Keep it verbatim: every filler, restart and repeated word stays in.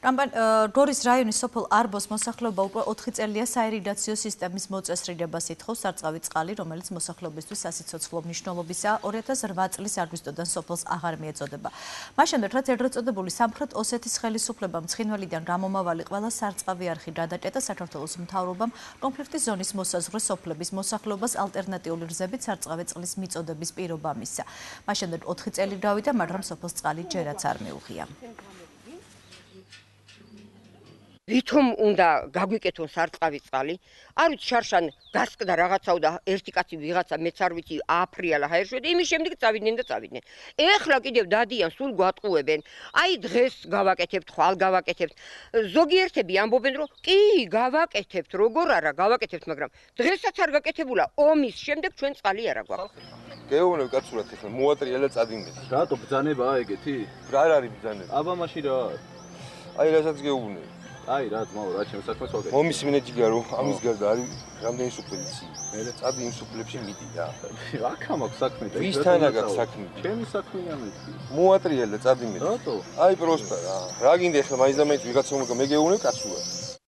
გორის რაიონის სოფელ არბოს მოსახლეობა უკვე ოთხი წელია საირიგაციო სისტემის მოწესრიგებას ითხოვს სარწყავი წყალი, რომელიც მოსახლეობისთვის სასიცოცხლო მნიშვნელობისაა. ორი ათას რვა წლის აგვისტოდან სოფელს აღარ მიეწოდება. მას შემდეგ, რაც ეგრეთ წოდებული სამხრეთ ოსეთის ხელისუფლებამ ცხინვალიდან გამომავალი ყველა სარწყავი არხი გადაჭედა, საქართველოს მთავრობამ კონფლიქტის ზონის მოსაზღვრე სოფლების მოსახლეობას ალტერნატიული გზებით სარწყავი წყლის მიწოდების პირობა მისცა. მას შემდეგ ოთხი წელი გავიდა, მაგრამ სოფელს წყალი ჯერაც არ მიუღია. ვითომ უნდა გაგვიკეთონ სარწყავი წყალი, არ ვიცი შარშან გასკდა რაღაცაო და ერთი კაცი ვიღაცა მეც არ ვიცი ააფრიალა ჰაერშვედი, იმის შემდეგ წავიდნენ და წავიდნენ. ეხლა კიდევ დადიან, სულ გვატყუებენ. აი დღეს გავაკეთებთ, ხვალ გავაკეთებთ. ზოგიერთები ამბობენ, რომ კი, გავაკეთებთ, როგორ არა, გავაკეთებთ, მაგრამ დღესაც არ გაკეთებულა, ომის შემდეგ ჩვენ წყალი არა გვაქვს. გეუბნები კაცურად ეხლა მოატრიალა წადინეთ. რატო ბძანებაა ეგეთი? რა არის ბძანება? აბა მაშინ რა? აი რასაც გეუბნები. აი რა ძმაო, რა ჩემს საქმეს ვაკეთებ. მომის მინეჯიგა რომ ამის გარდა არის რამდენი სუფლები იცი. მე წადი იმ სუფლებში მიდი რა. აქა მაქვს საქმე და ვისთანა გაქვს საქმე? ჩემი საქმეა მეთქი. მოატრიალა წადი მე. რატო? აი პროსტა რა. რა გინდა ეხლა მაინც და მაინც ვიღაცა უნდა მე გეუბნები კაცურად.